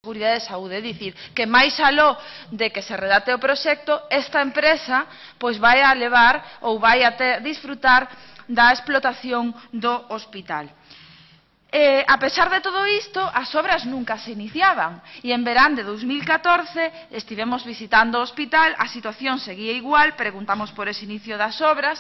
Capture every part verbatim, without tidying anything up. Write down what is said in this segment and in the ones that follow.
Seguridade de Saúde, é dicir, que máis aló de que se redacte o proxecto, esta empresa pois vai a levar ou vai a ter, disfrutar da explotación do hospital. Eh, a pesar de todo isto, as obras nunca se iniciaban e en verán de dos mil catorce estivemos visitando o hospital, a situación seguía igual, preguntamos por ese inicio das obras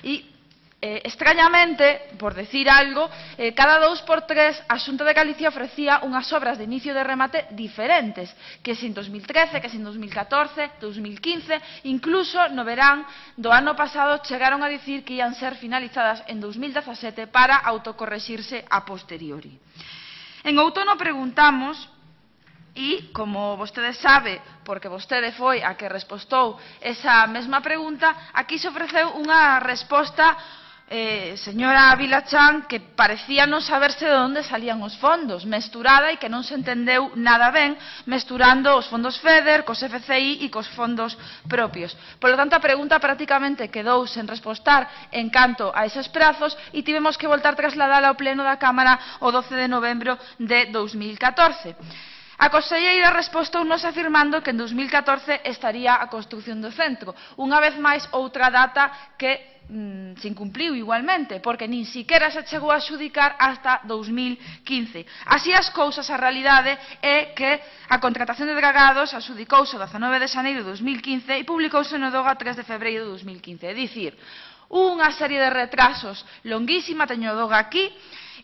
e Eh, extrañamente, por decir algo, eh, cada dous por tres a Xunta de Galicia ofrecía unhas obras de inicio de remate diferentes, que sin dos mil trece, que sin dos mil catorce, dos mil quince, incluso no verán do ano pasado chegaron a dicir que ian ser finalizadas en dos mil dezasete para autocorrexirse a posteriori. En outono preguntamos, e, como vostede sabe, porque vostede foi a que respostou esa mesma pregunta, aquí se ofreceu unha resposta Eh, señora Vilachán, que parecía non saberse de onde salían os fondos, mesturada e que non se entendeu nada ben, mesturando os fondos FEDER cos F C I e cos fondos propios. Por lo tanto, a pregunta prácticamente quedou sen respostar en canto a eses prazos e tivemos que voltar a trasladala ao pleno da Cámara o doce de novembro de dos mil catorce. A conselleira respostounos afirmando que en dos mil catorce estaría a construción do centro. Unha vez máis, outra data que mmm, se incumpliu igualmente, porque nin siquiera se chegou a xudicar hasta dos mil quince. Así as cousas, a realidade é que a contratación de dragados axudicouse o dezanove de xaneiro de dos mil quince e publicouse no DOGA tres de febreiro de dos mil quince. É dicir, unha serie de retrasos longuísima, teño o DOGA aquí,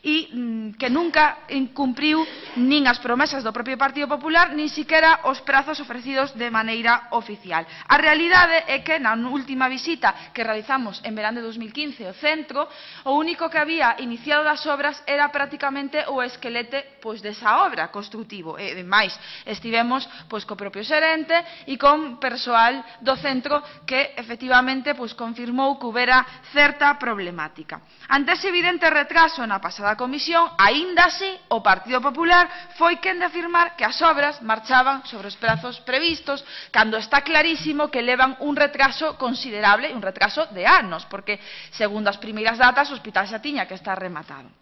e mmm, que nunca incumpriu nin as promesas do propio Partido Popular, nin siquiera os prazos ofrecidos de maneira oficial. A realidade é que na última visita que realizamos en verán de dos mil quince ao centro, o único que había iniciado das obras era prácticamente o esquelete pois, desa obra construtivo. E, máis, estivemos pois, co propio xerente e con persoal do centro que efectivamente pois, confirmou que houbera certa problemática. Ante ese evidente retraso na pasada comisión, aínda así, o Partido Popular foi quen de afirmar que as obras marchaban sobre os prazos previstos, cando está clarísimo que levan un retraso considerable, un retraso de anos, porque, segundo as primeiras datas, o hospital xa tiña que estar rematado.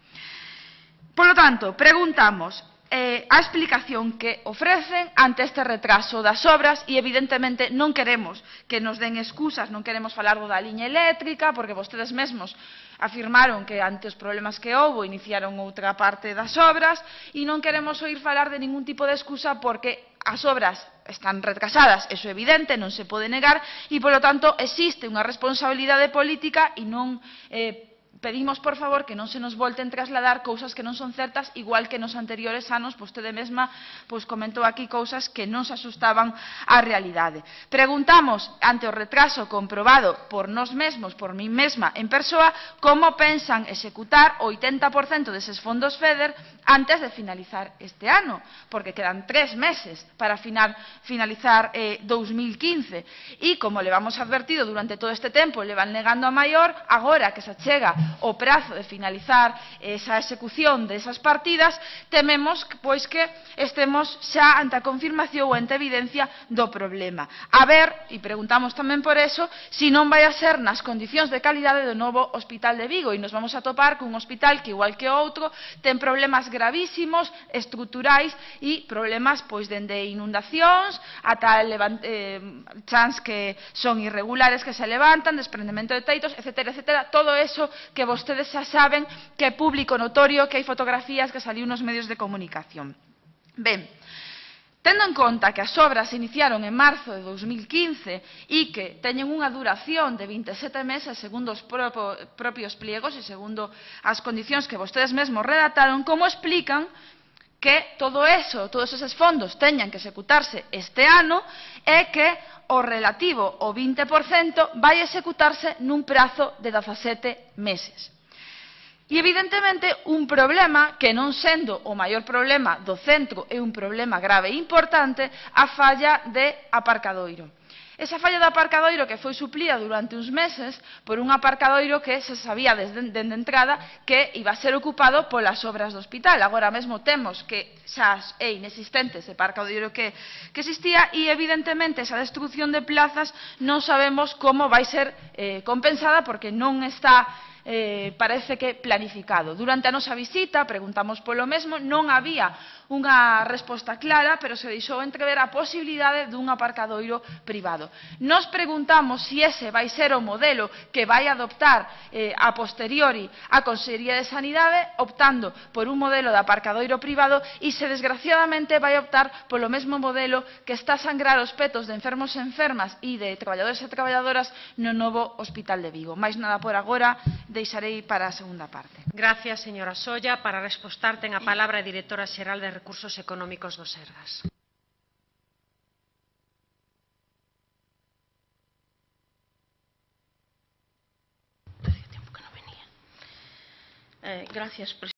Por lo tanto, preguntamos eh, a explicación que ofrecen ante este retraso das obras e, evidentemente, non queremos que nos den excusas, non queremos falar da liña eléctrica, porque vostedes mesmos afirmaron que ante os problemas que houbo iniciaron outra parte das obras e non queremos oír falar de ningún tipo de excusa porque as obras están retrasadas, eso é evidente, non se pode negar e, polo tanto, existe unha responsabilidade política e non eh, pedimos, por favor, que non se nos volten trasladar cousas que non son certas, igual que nos anteriores anos, vostede mesma pois, comentou aquí cousas que non se asustaban á realidade. Preguntamos, ante o retraso comprobado por nós mesmos, por mí mesma, en persoa, como pensan executar o oitenta por cento deses fondos FEDER antes de finalizar este ano, porque quedan tres meses para final, finalizar eh, dos mil quince. E, como le vamos advertido durante todo este tempo, le van negando a maior, agora que se chega o prazo de finalizar esa execución desas partidas, tememos pois que estemos xa ante a confirmación ou ante a evidencia do problema. A ver, e preguntamos tamén por eso, se non vai a ser nas condicións de calidade do novo Hospital de Vigo e nos vamos a topar cun hospital que, igual que outro, ten problemas gravísimos, estruturais e problemas pois dende inundacións ata eh, chans que son irregulares que se levantan, desprendemento de teitos, etcétera, etcétera, todo eso que vostedes xa saben que é público notorio, que hai fotografías que saliu nos medios de comunicación. Ben, tendo en conta que as obras se iniciaron en marzo de dos mil quince e que teñen unha duración de vinte e sete meses segundo os propios pliegos e segundo as condicións que vostedes mesmos redactaron, como explican que todo eso, todos eses fondos teñan que executarse este ano e que o relativo ao vinte por cento vai executarse nun prazo de dezasete meses. E, evidentemente, un problema que, non sendo o maior problema do centro, é un problema grave e importante, a falla de aparcadoiro. Esa falla de aparcadoiro que foi suplida durante uns meses por un aparcadoiro que se sabía desde de entrada que iba a ser ocupado polas obras do hospital. Agora mesmo temos que xa é inexistente ese aparcadoiro que, que existía e, evidentemente, esa destrucción de plazas non sabemos como vai ser eh, compensada porque non está eh, parece que planificado. Durante a nosa visita, preguntamos polo mesmo, non había unha resposta clara, pero se deixou entrever a posibilidade dun aparcadoiro privado. Nos preguntamos se ese vai ser o modelo que vai adoptar eh, a posteriori a Consellería de Sanidade, optando por un modelo de aparcadoiro privado, e se desgraciadamente vai optar polo mesmo modelo que está a sangrar os petos de enfermos e enfermas e de traballadores e traballadoras no novo Hospital de Vigo. Máis nada por agora, deixarei para a segunda parte. Gracias, señora Solla. Para respostar ten a palabra a directora xeral de Recursos Económicos do Sergas. Eh, gracias, presidenta.